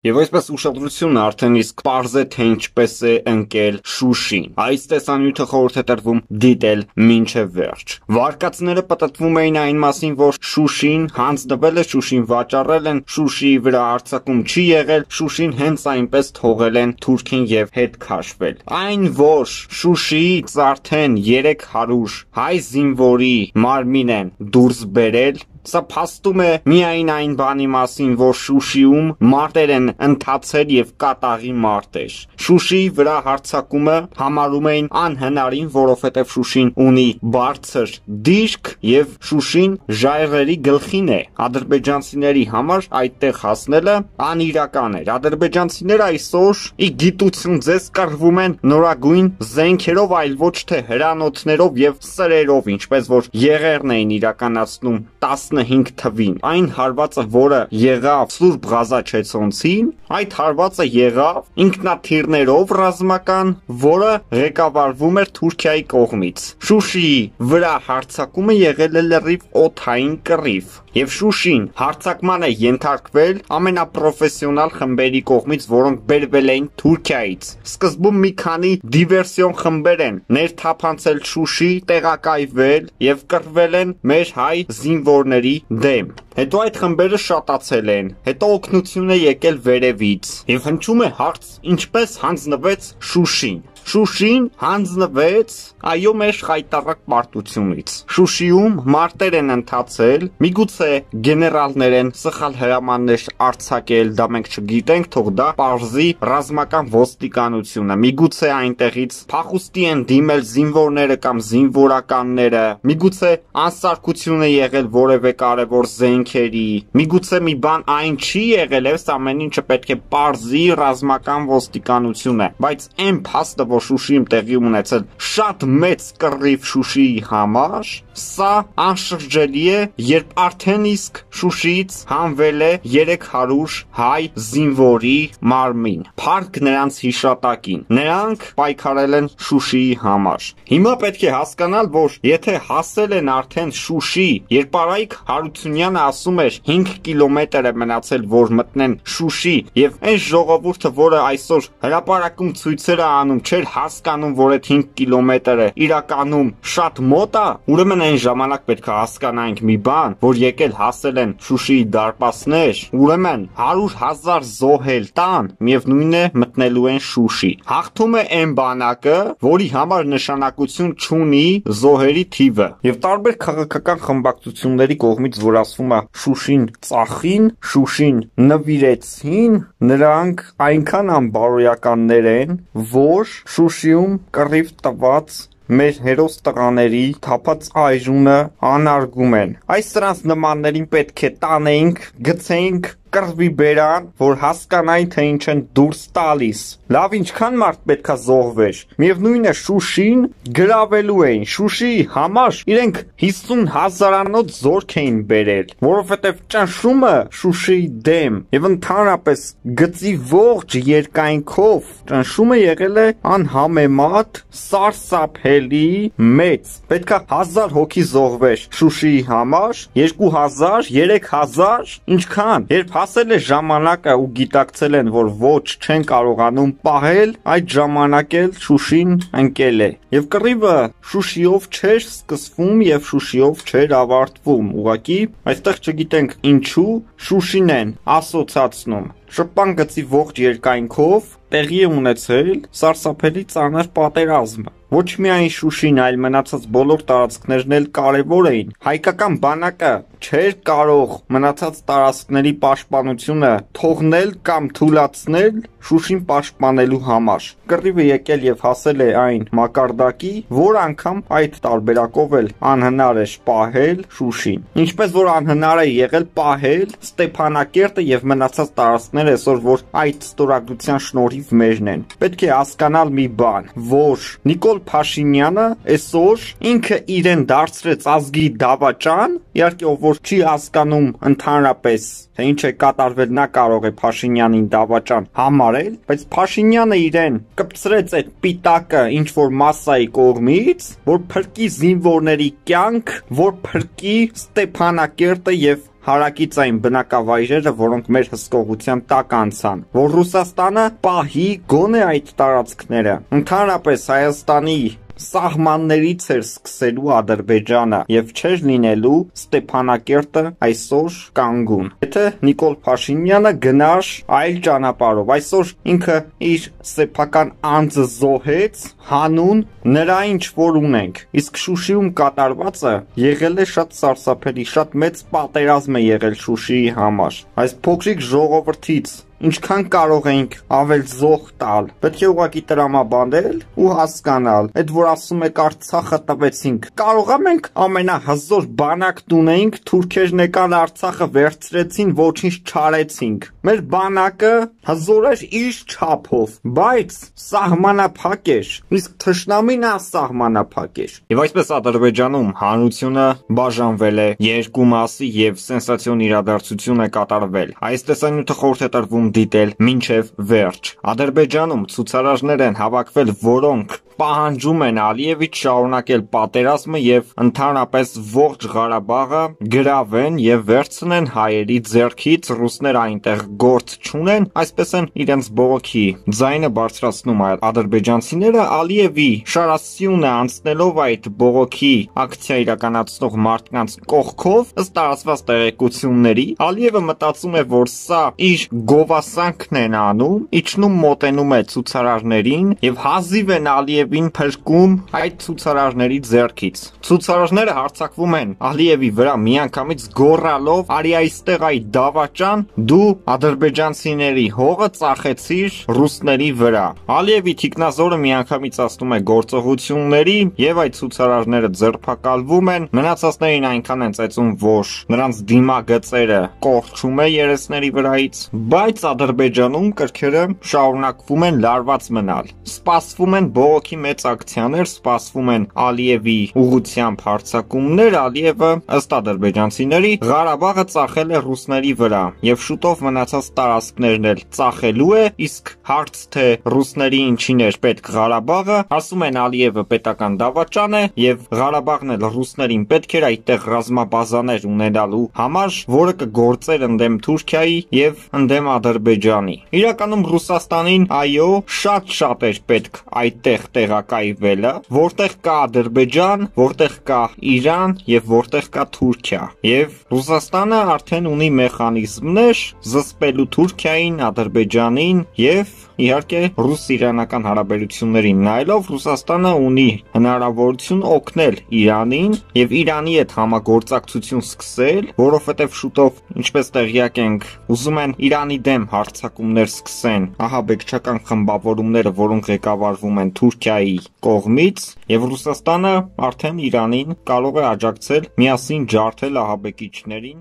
Եվ այսպես ուշադրությունը արդեն իսկ պարզ է, թե ինչպես է ընկել Շուշին։ Այս տեսանյութը խորհուրդ է տրվում դիտել մինչև վերջ։ Վարկածները պտտվում էին այն մասին, որ Շուշին հանձնվել է, Շուշին վաճառել են, Շուշիի վրա հարձակում չի եղել, Շուշին հենց այնպես թողել են Թուրքին եւ հետ քաշվել։ Այն, որ Շուշիից արդեն 300 հայ զինվորի մարմին են դուրս բերել, սա փաստում է միայն այն բանի մասին, որ Շուշիում մարտեր են ընթացել եւ կատաղի մարտեր։ Շուշիի վրա հարձակումը համարում էին անհնարին, որովհետեւ Շուշին ունի բարձր դիրք եւ Շուշին ժայռերի գլխին է։ Ադրբեջանցիների համար այդտեղ հասնելը անիրական էր։ Ադրբեջանցիները այսօր ի գիտություն ձեզ կռվում են նորագույն զենքերով, այլ ոչ թե հրանոթներով եւ սրերով, ինչպես որ եղերն էին իրականացնում 15 թվին։ Այն հարվածը, որը եղավ Սուրբ Ղազաչեցոնցին, այդ հարվածը եղավ ինքնաթիռներով ռազմական, որը ղեկավարվում էր Թուրքիայի կողմից։ Շուշիի վրա հարձակումը եղել է լրիվ օդային կռիվ, եւ Շուշին հարձակման է ենթարկվել ամենապրոֆեսիոնալ խմբերի կողմից, որոնք բերվել էին Թուրքիայից։ Սկզբում մի քանի դիվերսիոն խմբեր են ներթափանցել Շուշի, տեղակայվել եւ կռվել են մեր հայ զինվորների դեմ։ Հետո այդ խմբերը շատացել են, հետո օգնություն է եկել վերևից եւ հնչում է հարց, ինչպես հանձնվեց Շուշին։ Շուշին հանձնվեց, այո, մեր խայտառակ պարտությունից։ Շուշիում մարտեր են ընթացել, միգուցե գեներալներ են սխալ հրամաններ արձակել, դա մենք չգիտենք, թող դա պարզի ռազմական ոստիկանությունը։ Միգուցե այնտեղից փախուստի են դիմել զինվորները կամ զինվորականները, միգուցե անսարքություն է եղել որևէ կարևոր զենքերի, միգուցե մի բան այն չի եղել, այս ամեն ինչը պետք է պարզի ռազմական ոստիկանությունը, բայց այն փաստը, որ Շուշիում տեղի ունեցել շատ մեծ կռիվ Շուշիի համար, սա անշրջելի է, երբ արդեն իսկ Շուշիից հանվել է 300 հայ զինվորի մարմին, փառք նրանց հիշատակին, նրանք պայքարել են Շուշիի համար։ Հիմա պետք է հասկանալ, որ եթե հասել են արդեն Շուշի, երբ Արայիկ Հարությունյանը ասում էր 5 կիլոմետր է մնացել, որ մտնեն Շուշի, եւ այն ժողովուրդը, որը այսօր հրապարակում ցույցերը անում, չէր հասկանում, որ այդ 5 կիլոմետրը իրականում շատ մոտ է, ուրեմն այն ժամանակ պետք է հասկանանք մի բան, որ եկել հասել են Շուշիի դարպասներ, ուրեմն 100,000 զոհել տան, միևնույն է մտնելու են Շուշի։ Հաղթում է այն բանակը, որի համար նշանակություն չունի զոհերի թիվը։ Եվ տարբեր քաղաքական խմբակցությունների կողմից, որ ասվում է Շուշին ծախին, Շուշին նվիրեցին, նրանք այնքան անբարոյականներ են, որ Շուշիում կռիվ տված մեր հերոս տղաների թափած այժունը անարգում են։ Այս սրանց նմաններին պետք է տանենք, գցենք կռվի բերան, որ հասկանային, թե ինչ են դուրս տալիս։ Լավ, ինչքան մարդ պետքա զոհվեր։ Միևնույն է, Շուշին գրավելու էին։ Շուշիի համար իրենք 50,000-անոց զորք էին բերել, որովհետև ճնշումը Շուշիի դեմ եւ ընդհանրապես գծի ողջ երկայնքով ճնշումը եղել է անհամեմատ սարսափելի մեծ։ Պետքա 1000 հոգի զոհվեր Շուշիի համար, 2000, 3000, ինչքան։ Երբ հասել է ժամանակը ու գիտակցել են, որ ոչ չեն կարողանում պահել, այդ ժամանակ էլ Շուշին ընկել է։ Եվ կռիվը Շուշիով չէր սկսվում եւ Շուշիով չէր ավարտվում։ Ուղղակի այստեղ չգիտենք ինչու Շուշին են ասոցացնում։ Շփան գծի ողջ երկայնքով տեղի է ունեցել սարսափելի ծանր պատերազմը։ Ոչ միայն Շուշին, այլ մնացած բոլոր տարածքներն էլ կարևոր էին։ Հայկական բանակը չէր կարող մնացած տարածքների պաշտպանությունը թողնել կամ թուլացնել Շուշին պաշտպանելու համար։ Կռիվը եկել եւ հասել է այն մակարդակի, որ անգամ այդ տարբերակով էլ անհնար է պահել Շուշին։ Ինչպես որ անհնար է եղել պահել Ստեփանակերտը եւ մնացած տարածքները, այսօր որ այդ ստորագրության շնորհիվ մերն են։ Պետք է հասկանալ մի բան, որ Նիկոլ Փաշինյանը այսօր ինքը իրեն դարձրեց ազգի դավաճան, իհարկե ով որ չի հասկանում ընդհանրապես թե ինչ է կատարվել, նա կարող է Փաշինյանին դավաճան համարել, բայց Փաշինյանը իրեն կպցրեց այդ պիտակը ինչ որ մասսայի կողմից, որ փրկի զինվորների կյանք, որ փրկի Ստեփանակերտը եւ հարակիցային բնակավայրերը, որոնք մեր հսկողության տակ անցան, որ Ռուսաստանը պահի գոնե այդ տարածքները։ Ընդհանրապես Հայաստանի սահմաններից էր սկսելու Ադրբեջանը եւ չէր լինելու Ստեփանակերտը այսօր կանգուն։ Եթե Նիկոլ Փաշինյանը գնար այլ ճանապարհով, այսօր ինքը իր սեփական անձը զոհեց հանուն նրա ինչ որ ունենք, իսկ Շուշիում կատարվածը եղել է շատ սարսափելի, շատ մեծ պատերազմ է եղել Շուշիի համար։ Այս փոքրիկ ժողովրդից ինչքան կարող ենք ավել զոհ տալ, պետք է ուղղակի տրամաբանել ու հասկանալ, այդ որ ասում եք Արցախը տվեցինք, կարողա մենք ամենահզոր բանակն ունեինք, թուրքերն եկան Արցախը վերցրեցին, ոչինչ չարեցինք, մեր բանակը հզոր էր իր չափով, բայց սահմանափակ էր, իսկ թշնամին ասահմանափակ էր։ Եվ այսպես Ադրբեջանում հանրությունը բաժանվել է երկու մասի եւ սենսացիոն իրադարձություն է կատարվել։ Այս տեսանյութը խորհուրդ է տրվում դիտել մինչև վերջ։ Ադրբեջանում ցուցարարներ են հավաքվել, որոնք պահանջում են Ալիևից շարունակել պատերազմը եւ ընդհանրապես ողջ Ղարաբաղը գրավեն եւ վերցնեն հայերի ձեռքից, ռուսները այնտեղ գործ չունեն, այսպես են իրենց բողոքի ձայնը բարձրացնում ադրբեջանցիները Ալիևի շարասյունը անցնելով այդ բողոքի ակցիա իրականացնող մարդկանց կողքով, ըստ տարածված տեղեկությունների, Ալիևը մտածում է, որ սա իր գովասանքն են անում, իջնում մոտենում է ցուցարարներին եւ հազիվ են Ալիևին փրկում այդ ցուցարարների ձեռքից։ Ցուցարարները հարձակվում են Ալիևի վրա միանգամից գոռալով՝ «Արի այստեղ այդ դավաճան, դու ադրբեջանցիների հողը ծախեցիր ռուսների վրա»։ Ալիևի թիկնազորը միանգամից ասնում է գործողությունների եւ այդ ցուցարարները ձերբակալվում են, մնացածներին այնքան են ծեծում, որ նրանց դիմագծերը կորչում է երեսների վրայից, բայց Ադրբեջանում կրքերը շարունակվում են լարված մնալ։ Սպասվում են բողոքի մեծ ակցիաներ, սպասվում են Ալիևի ուղղությամբ հարձակումներ, Ալիևը ըստ ադրբեջանցիների Ղարաբաղը ծախել է ռուսների վրա եւ շուտով մնացած տարածքներն էլ ծախելու է, իսկ հարց թե ռուսների ինչին էր պետք Ղարաբաղը, ասում են Ալիևը պետական դավաճան է եւ Ղարաբաղն էլ ռուսներին պետք էր այդտեղ ռազմաբազաներ ունենալու համար, որը կգործեր ընդդեմ Թուրքիայի եւ ընդդեմ Ադրբեջանի։ Իրականում Ռուսաստանին այո, շատ էր պետք այդտեղ տեղակայվելը, որտեղ կա Ադրբեջան, որտեղ կա Իրան եւ որտեղ կա Թուրքիա։ Եվ Ռուսաստանը արդեն ունի մեխանիզմներ զսպելու Թուրքիային, Ադրբեջանին եւ իհարկե ռուս-իրանական հարաբերություններին նայելով Ռուսաստանը ունի հնարավորություն օգնել Իրանին եւ Իրանի հետ համագործակցություն սկսել, որովհետեւ շուտով, ինչպես տեղյակ ենք, ուզում են Իրանի դեմ հարձակումներ սկսեն ահաբեկչական խմբավորումները, որոնք ղեկավարվում են Թուրքիայի կողմից, եւ Ռուսաստանը արդեն Իրանին կարող է աջակցել միասին ջարդել ահաբեկիչներին